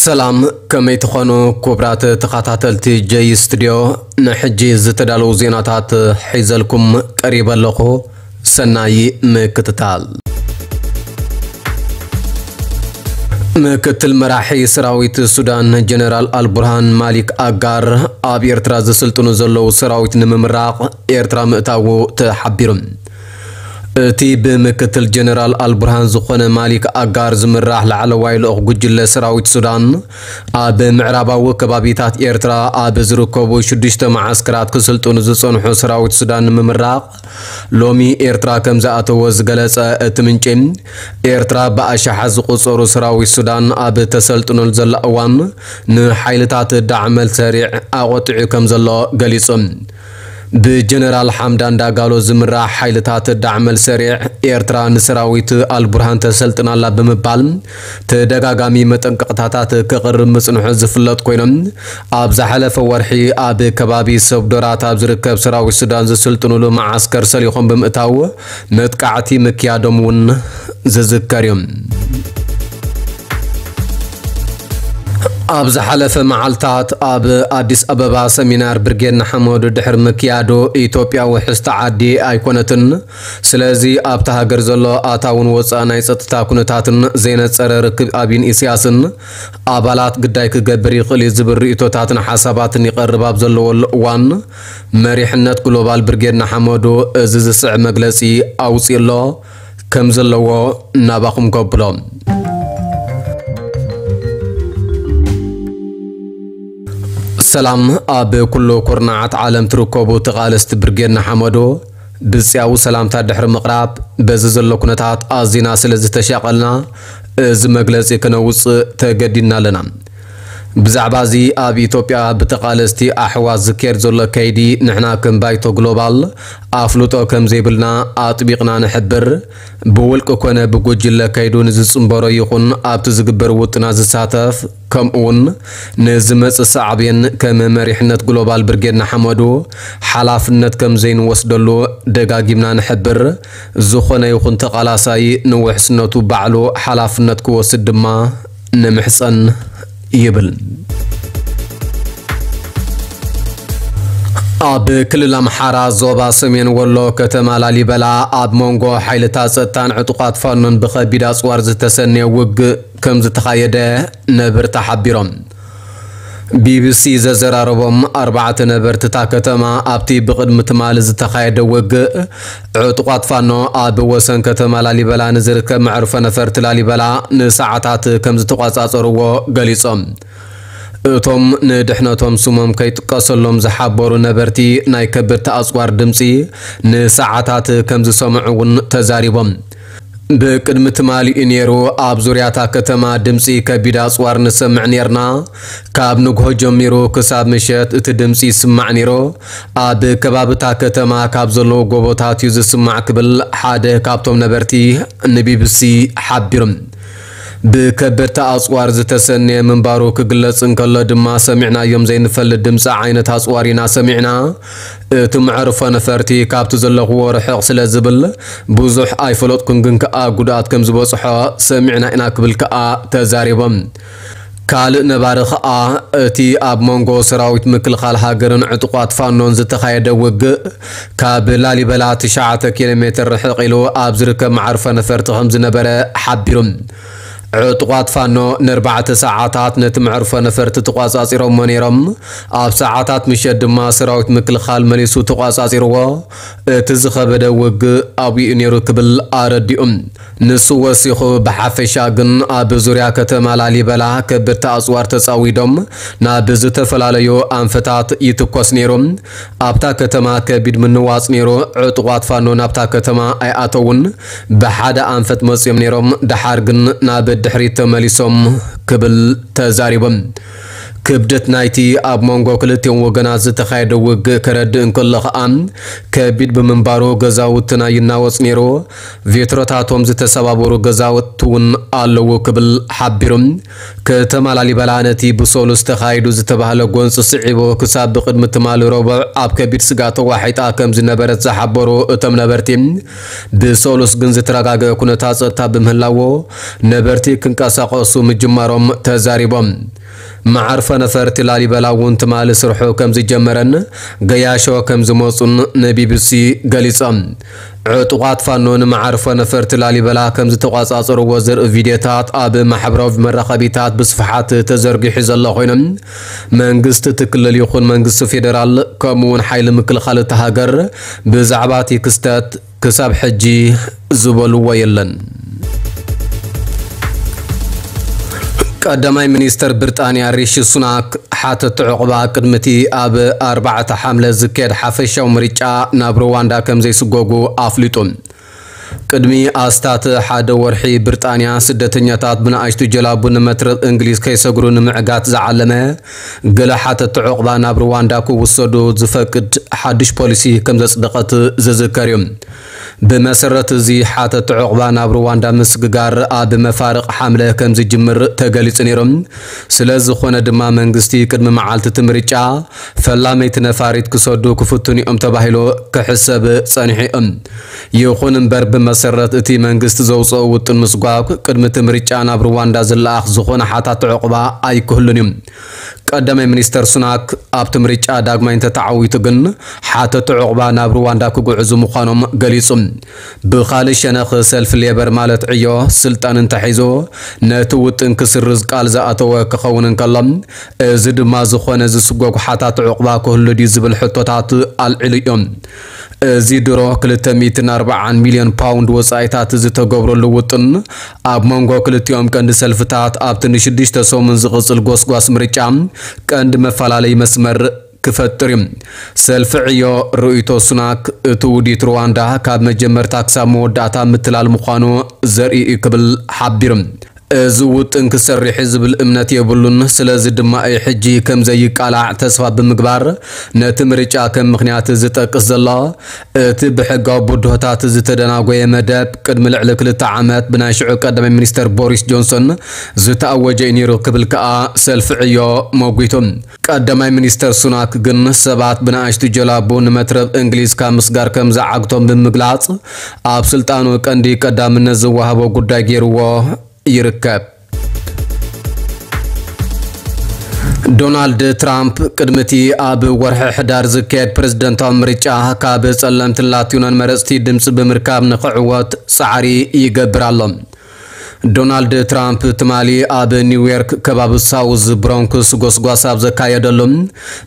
ሰላም፣ ከመይ ትኾኑ ክቡራት ተኸታተልቲ ጀይ ስቱድዮ? ንሕጂ ዝተዳለዉ ዜናታት ሒዘልኩም ቀሪበ ኣለኹ። ሰናይ ምክትታል። ምክትል መራሒ ሰራዊት ሱዳን ጀነራል ኣልቡርሃን ማሊክ ኣጋር ኣብ ኤርትራ ዝስልጥኑ ዘለዉ ሰራዊት ንምምራቕ ኤርትራ ምእታዉ ተሓቢሩ። እቲ ብምክትል ጀነራል ኣልቡርሃን ዝኾነ ማሊክ ኣጋር ዝምራሕ ላዕለዋይ ልኡኽ ጉጅለ ሰራዊት ሱዳን፣ ኣብ ምዕራባዊ ከባቢታት ኤርትራ ኣብ ዝርከቡ ሽዱሽተ መዓስከራት ክስልጥኑ ዝጸንሑ ሰራዊት ሱዳን ንምምራቕ ሎሚ ኤርትራ ከም ዝኣተወ ዝገለጸ እቲ ምንጪ፣ ኤርትራ ብኣሽሓት ዝቑጸሩ ሰራዊት ሱዳን ኣብ ተሰልጥነሉ ዘላ እዋን፣ ንሓይልታት ዳዕመል ሰሪዕ ኣቖጢዑ ከም ዘሎ ገሊጹ። ብጀነራል ሓምዳን ዳጋሎ ዝምራሕ ሓይልታት ዳዕመል ሰሪዕ፣ ኤርትራ ንሰራዊት ኣልቡርሃን ተሰልጥናላ ብምባል ተደጋጋሚ መጠንቀቕታታት ከቕርብ ምጽንሑ ዝፍለጥ ኮይኖም፣ ኣብ ዝሓለፈ ወርሒ ኣብ ከባቢ ሰብ ዶራት ኣብ ዝርከብ ሰራዊት ሱዳን ዝስልጥኑሉ መዓስከር ሰሊኾም ብምእታው መጥቃዕቲ ምክያዶም እውን ዝዝከር እዩ። ኣብ ዝሓለፈ መዓልታት ኣብ ኣዲስ ኣበባ ሰሚናር ብርጌድ ንሓመዱ ድሕሪ ምክያዱ፣ ኢትዮጵያ ውሕስቲ ዓዲ ኣይኮነትን፣ ስለዚ ኣብታ ሃገር ዘሎ ኣታውን ወፃእ ናይ ፀጥታ ኩነታትን ዘይነፀረ ርክብ ኣብይን ኢሳያስን ኣባላት ግዳይ ክገብር ይኽእል እዩ ዝብል ርእይቶታትን ሓሳባትን ይቐርብ ኣብ ዘለወሉ እዋን፣ መሪሕነት ግሎባል ብርጌድ ንሓመዱ እዚ ዝስዕብ መግለፂ ኣውፂኡ ኣሎ። ከም ዘለዎ ናባኹም ከብሎ። ሰላም፣ ኣብ ኩሉ ኩርናዓት ዓለም ትርከቡ ተቓለስቲ ብርጌድ ንሓመዱ፣ ብጽያዊ ሰላምታ ድሕሪ ምቕራብ፣ በዚ ዘሎ ኩነታት ኣዚና ስለ ዝተሻቐልና፣ እዚ መግለጺ ክነውጽእ ተገዲድና ኣለና። ብዛዕባ እዚ ኣብ ኢትዮጵያ ብተቓለስቲ ኣሕዋት ዝካየድ ዘሎ ከይዲ ንሕና ከም ባይቶ ግሎባል ኣፍልጦ ከም ዘይብልና ኣጥቢቕና ንሕብር። ብውልቂ ኮነ ብጉጅለ ከይዱ ንዝጽንበሮ ይኹን ኣብቲ ዝግበር ውጥናት ዝሳተፍ፣ ከምኡውን ንዝመጽእ ሳዕቤን ከም መሪሕነት ግሎባል ብርጌድ ንሓመዱ ሓላፍነት ከም ዘይንወስደሉ ደጋጊምና ንሕብር። ዝኾነ ይኹን ተቓላሳይ ንውሕስነቱ ባዕሉ ሓላፍነት ክወስድ ድማ ንምሕጸን ይብል። ኣብ ክልል ኣምሓራ ዞባ ሰሜን ወሎ ከተማ ላሊበላ ኣብ መንጎ ሓይልታት ጸጥታን ዕጡቓት ፋኖን ብኸቢድ ኣጽዋር ዝተሰነየ ውግእ ከም ዝተኻየደ ነበርቲ ሓቢሮም። ቢቢሲ ዘዘራረቦም ኣርባዕተ ነበርቲ እታ ከተማ፣ ኣብቲ ብቕድሚ ትማሊ ዝተኻየደ ውግእ፣ ዕጡቓት ፋኖ ኣብ ወሰን ከተማ ላሊበላ ንዝርከብ መዕርፎ ነፈርቲ ላሊበላ ንሰዓታት ከም ዝተቖጻጸርዎ ገሊጾም። እቶም ንድሕነቶም ስሞም ከይጥቀሰሎም ዝሓበሩ ነበርቲ፣ ናይ ከበድቲ ኣጽዋር ድምጺ ንሰዓታት ከም ዝሰምዑ እውን ተዛሪቦም። ብቅድሚ ትማሊ እዩ ነይሩ፣ ኣብ ዙርያታ ከተማ ድምጺ ከቢድ ኣጽዋር ንሰምዕ ነይርና። ካብ ንግሆ ጀሚሩ ክሳብ ምሸት እቲ ድምጺ ይስማዕ ነይሩ። ኣብ ከባብታ ከተማ ካብ ዘለዉ ጎቦታት እዩ ዝስማዕ ክብል ሓደ ካብቶም ነበርቲ ንቢቢሲ ሓቢሩ። ብከበድቲ ኣጽዋር ዝተሰነየ ምንባሩ ክግለጽ እንከሎ ድማ፣ ሰሚዕናዮም ዘይንፈልጥ ድምጺ ዓይነት ኣጽዋር ኢና ሰሚዕና። እቲ መዕርፎ ነፈርቲ ካብቲ ዘለኽዎ ርሕቕ ስለ ዝብል ብዙሕ ኣይፈለጥኩን፣ ግን ከኣ ጉድኣት ከም ዝበጽሖ ሰሚዕና ኢና ክብል ከኣ ተዛሪቦም። ካልእ ነባሪ ከኣ፣ እቲ ኣብ መንጎ ሰራዊት ምክልኻል ሃገርን ዕጡቓት ፋኖን ዝተኻየደ ውግእ ካብ ላሊበላ ትሽዓተ ኪሎ ሜትር ርሕቕ ኢሉ ኣብ ዝርከብ መዓርፎ ነፈርቲ ከም ዝነበረ ሓቢሩ። ዕጡቓት ፋኖ ንኣርባዕተ ሰዓታት ነቲ መዕርፎ ነፈርቲ ተቋጻጺሮሞ ነይሮም። ኣብ ሰዓታት ምሸት ድማ ሰራዊት ምክልኻል መሊሱ ተቋጻጺርዎ። እቲ ዝኸበደ ውግእ ኣብኡ ነይሩ ክብል ኣረዲኡ። ንሱ ወሲኹ፣ ብሓፈሻ ግን ኣብ ዙርያ ከተማ ላሊበላ ከበድቲ ኣጽዋር ተጻዊዶም ናብ ዝተፈላለዩ ኣንፈታት ይትኮስ ነይሩ። ኣብታ ከተማ ከቢድ ምንዋጽ ነይሩ። ዕጡቓት ፋኖ ናብታ ከተማ ኣይኣተውን። ብሓደ ኣንፈት መጽዮም ነይሮም፣ ደሓር ግን ናብ ድሕሪት ተመሊሶም ክብል ተዛሪቦም። ክብደት ናይቲ ኣብ መንጎ ክልቲኦም ወገናት ዝተኻየደ ውግእ ከረድእ እንከሎ ኸኣ፣ ከቢድ ብምንባሩ ገዛውትና ይናወጽ ነይሩ። ቬትሮታቶም ዝተሰባበሩ ገዛውቲ እውን ኣለዉ ክብል ሓቢሩ። ከተማ ላሊበላ ነቲ ብሰሉስ ተኻይዱ ዝተባህለ ጎንፂ ስዒቡ ክሳብ ብቅድሚ ትማሊ ረቡዕ ኣብ ከቢድ ስጋት ተዋሒጣ ከም ዝነበረት ዝሓበሩ እቶም ነበርቲ፣ ብሰሉስ ግን ዝተረጋገአ ኩነታት ጸጥታ ብምህላዎ ነበርቲ ክንቀሳቐሱ ምጅማሮም ተዛሪቦም። መዓርፎ ነፈርቲ ላሊበላ እውን ትማሊ ስርሑ ከም ዝጀመረን ገያሾ ከም ዝመጹን ንቢቢሲ ገሊጾም። ዕጡቓት ፋኖ ንመዓርፎ ነፈርቲ ላሊበላ ከም ዝተቋጻጸርዎ ዘርኢ ቪድዮታት ኣብ ማሕበራዊ መራኸቢታት ብስፍሓት ተዘርጊሑ ዘሎ ኮይኑ፣ መንግስቲ እቲ ክልል ይኹን መንግስቲ ፌደራል ከምኡ እውን ሓይሊ ምክልኻል እታ ሃገር ብዛዕባ እቲ ክስተት ክሳብ ሕጂ ዝበልዎ የለን። ቀዳማይ ሚኒስተር ብሪጣንያ ሪሺ ሱናክ ሓተቲ ዕቑባ ቅድሚ እቲ ኣብ ኣርባዕተ ሓምለ ዝካየድ ሓፈሻዊ ምርጫ ናብ ሩዋንዳ ከም ዘይስጎጉ ኣፍሊጡ። ቅድሚ ኣስታት ሓደ ወርሒ ብሪጣንያ ስደተኛታት ብንኣሽቱ ጀላቡ ንመትረብ እንግሊዝ ከይሰግሩ ንምዕጋት ዝዓለመ ገለ ሓተቲ ዕቑባ ናብ ሩዋንዳ ክውሰዱ ዝፈቅድ ሓድሽ ፖሊሲ ከም ዘጽደቐት ዝዝከር እዩ። ብመሰረት እዚ ሓተቲ ዕቑባ ናብ ሩዋንዳ ምስግጋር ኣብ መፋርቕ ሓምለ ከም ዝጅምር ተገሊጹ ነይሩ። ስለ ዝኾነ ድማ መንግስቲ ቅድሚ መዓልቲ እቲ ምርጫ ፈላመይቲ ነፋሪት ክሰዱ ክፍትኑ እዮም ተባሂሉ ክሕሰብ ጸኒሑ እዩ። ይኹን እምበር ብመሰረት እቲ መንግስቲ ዘውፅኦ ውጥን ምስጓግ ቅድሚ እቲ ምርጫ ናብ ሩዋንዳ ዝለኣኽ ዝኾነ ሓታቲ ዕቑባ ኣይክህሉን እዩ። ቀዳማይ ሚኒስተር ሱናክ ኣብቲ ምርጫ ዳግማይ እንተተዓዊቱ ግን ሓተቲ ዕቑባ ናብ ሩዋንዳ ክጉዕዙ ምዃኖም ገሊጹ። ብኻልእ ሸነኽ ሰልፊ ሌበር ማለት ዕዮ ስልጣን እንተሒዙ ነቲ ውጥን ክስርዝ ቃል ዝኣተወ ክኸውን እንከሎ፣ እዚ ድማ ዝኾነ ዝስጎጉ ሓታት ዕቑባ ክህሉ ድዩ ዝብል ሕቶታት ኣልዒሉ እዮም። እዚ ድሮ ክልተ ሚእትን ኣርባዓን ሚልዮን ፓውንድ ወጻኢታት ዝተገብረሉ ውጥን ኣብ መንጎ ክልቲኦም ቀንዲ ሰልፍታት ኣብቲ ንሽዱሽተ ሰሙን ዝቕጽል ጎስጓስ ምርጫ ቀንዲ መፈላለዪ መስመር ክፈጥር እዩ። ሰልፊ ዕዮ ርእይቶ ሱናክ እቲ ውዲት ሩዋንዳ ካብ መጀመርታ ክሳብ መወዳእታ ምትላል ምዃኑ ዘርኢ እዩ ክብል ሓቢሩ። እዚ ውጥን ክሰርሕ እዩ ዝብል እምነት የብሉን። ስለዚ ድማ እዩ ሕጂ ከም ዘይቃላዕ ተስፋ ብምግባር ነቲ ምርጫ ከም ምኽንያት ዝጠቅስ ዘሎ። እቲ ብሕጋዊ ብድሆታት ዝተደናጎየ መደብ ቅድሚ ልዕሊ ክልተ ዓመት ብናይ ሽዑ ቀዳማይ ሚኒስተር ቦሪስ ጆንሰን ዝተኣወጀ እዩ ነይሩ ክብል ከኣ ሰልፊ ዕዮ መጒቱ። ቀዳማይ ሚኒስተር ሱናክ ግን ሰባት ብንኣሽቱ ጀላቡ ንመትረብ እንግሊዝ ካብ ምስጋር ከም ዝዓግቶም ብምግላጽ ኣብ ስልጣኑ ቀንዲ ቀዳምነት ዝወሃቦ ጉዳይ ገይርዎ ይርከብ። ዶናልድ ትራምፕ ቅድሚ እቲ ኣብ ወርሒ ሕዳር ዝካየድ ፕሬዝደንታዊ ምርጫ ካብ ጸለምትን ላቲኖን መረጽቲ ድምጺ ብምርካብ ንኽዕወት ጻዕሪ ይገብር ኣሎ። ዶናልድ ትራምፕ ትማሊ ኣብ ኒውዮርክ ከባቢ ሳውዝ ብሮንክስ ጎስጓስ ኣብ ዘካየደሉ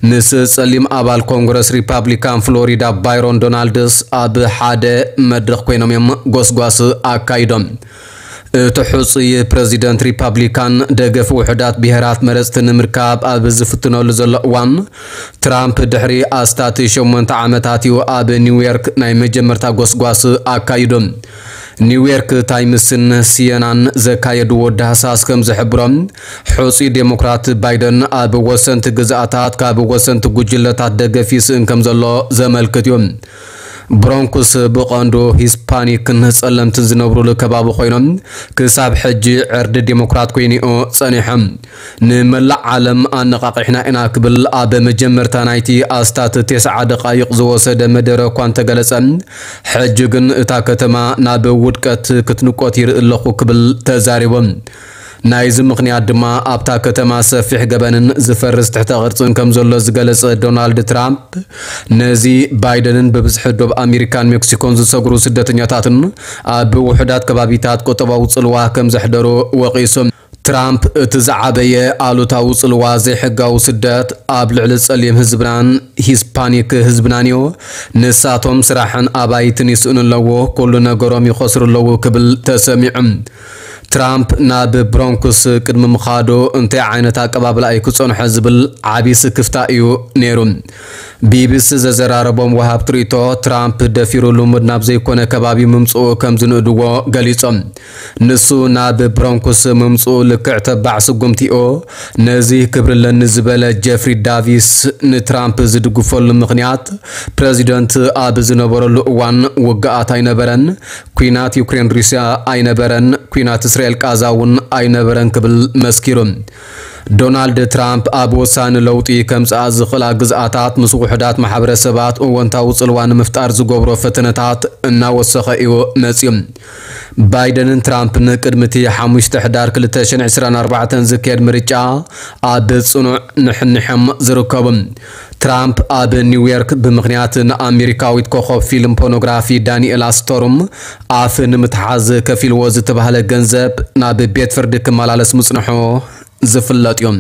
ምስ ጸሊም ኣባል ኮንግረስ ሪፓብሊካን ፍሎሪዳ ባይሮን ዶናልድስ ኣብ ሓደ መድረኽ ኮይኖም እዮም ጎስጓስ ኣካይዶም። እቲ ሕጹይ ፕረዚደንት ሪፓብሊካን ደገፍ ውሑዳት ብሄራት መረጽቲ ንምርካብ ኣብ ዝፍትነሉ ዘሎ እዋን፣ ትራምፕ ድሕሪ ኣስታት ሸሞንተ ዓመታት እዩ ኣብ ኒውዮርክ ናይ መጀመርታ ጎስጓስ ኣካይዱ። ኒውዮርክ ታይምስን ሲየናን ዘካየድዎ ዳህሳስ ከም ዝሕብሮ፣ ሕጹይ ዴሞክራት ባይደን ኣብ ወሰንቲ ግዝኣታት ካብ ወሰንቲ ጉጅለታት ደገፍ ይስእን ከም ዘሎ ዘመልክት እዩ። ብሮንኩስ ብቐንዱ ሂስፓኒክን ጸለምትን ዝነብሩሉ ከባቢ ኮይኖም፣ ክሳብ ሕጂ ዕርዲ ዴሞክራት ኮይኑ'ዩ ጸኒሑ። ንመላእ ዓለም ኣነቓቒሕና ኢና ክብል ኣብ መጀመርታ ናይቲ ኣስታት ተስዓ ደቓይቕ ዝወሰደ መደረ እኳ እንተገለጸ፣ ሕጂ ግን እታ ከተማ ናብ ውድቀት ክትንቆት ይርኢ ኣለኹ ክብል ተዛሪቡ። ናይዚ ምኽንያት ድማ ኣብታ ከተማ ሰፊሕ ገበንን ዝፈርስ ትሕተ ቅርጽን ከም ዘሎ ዝገለጸ ዶናልድ ትራምፕ፣ ነዚ ባይደንን ብብዝሒ ዶብ ኣሜሪካን ሜክሲኮን ዝሰግሩ ስደተኛታትን ኣብ ውሑዳት ከባቢታት ቁጠባዊ ጽልዋ ከም ዘሕደሩ ወቒሱ። ትራምፕ እቲ ዝዓበየ ኣሉታዊ ጽልዋ ዘይሕጋዊ ስደት ኣብ ልዕሊ ጸሊም ህዝብናን ሂስፓኒክ ህዝብናን እዩ። ንሳቶም ስራሕን ኣባይትን ይስእኑ ኣለዎ፣ ኩሉ ነገሮም ይኸስሩ ኣለዉ ክብል ተሰሚዑ። ትራምፕ ናብ ብሮንክስ ቅድሚ ምኻዱ እንታይ ዓይነት ኣቀባብላ እዩ ክጸንሖ ዝብል ዓቢ ስክፍታ እዩ ነይሩ። ቢቢሲ ዘዘራረቦም ወሃብቲ ርእይቶ፣ ትራምፕ ደፊሩ ልሙድ ናብ ዘይኮነ ከባቢ ምምፅኡ ከም ዝንእድዎ ገሊጾም። ንሱ ናብ ብሮንኩስ ምምፅኡ ልክዕ ተባዕ ስጉምቲኡ። ነዚ ክብሪ ኣለኒ ዝበለ ጀፍሪ ዳቪስ ንትራምፕ ዝድግፈሉ ምኽንያት፣ ፕረዚደንት ኣብ ዝነበረሉ እዋን ውግኣት ኣይነበረን፣ ኲናት ዩክሬን ሩስያ ኣይነበረን፣ ኲናት እስራኤል ቃዛ እውን ኣይነበረን ክብል መስኪሩ። ዶናልድ ትራምፕ ኣብ ወሳኒ ለውጢ ከምጽኣ ዝኽእላ ግዝኣታት ምስ ውሑዳት ማሕበረሰባት እወንታዊ ጽልዋ ንምፍጣር ዝገብሮ ፈተነታት እናወሰኸ እዩ መጺኡ። ባይደንን ትራምፕን ቅድሚ እቲ ሓሙሽተ ሕዳር ክልተ ሽሕን ዕስራን ኣርባዕተን ዝካየድ ምርጫ ኣብ ጽኑዕ ንሕንሕም ዝርከቡ። ትራምፕ ኣብ ኒውዮርክ ብምኽንያት ንኣሜሪካዊት ኮኸብ ፊልም ፖርኖግራፊ ዳኒኤላ ስቶርም ኣፍ ንምትሓዝ ከፊልዎ ዝተባህለ ገንዘብ ናብ ቤት ፍርዲ ክመላለስ ምጽንሑ ዝፍለጥ እዩ።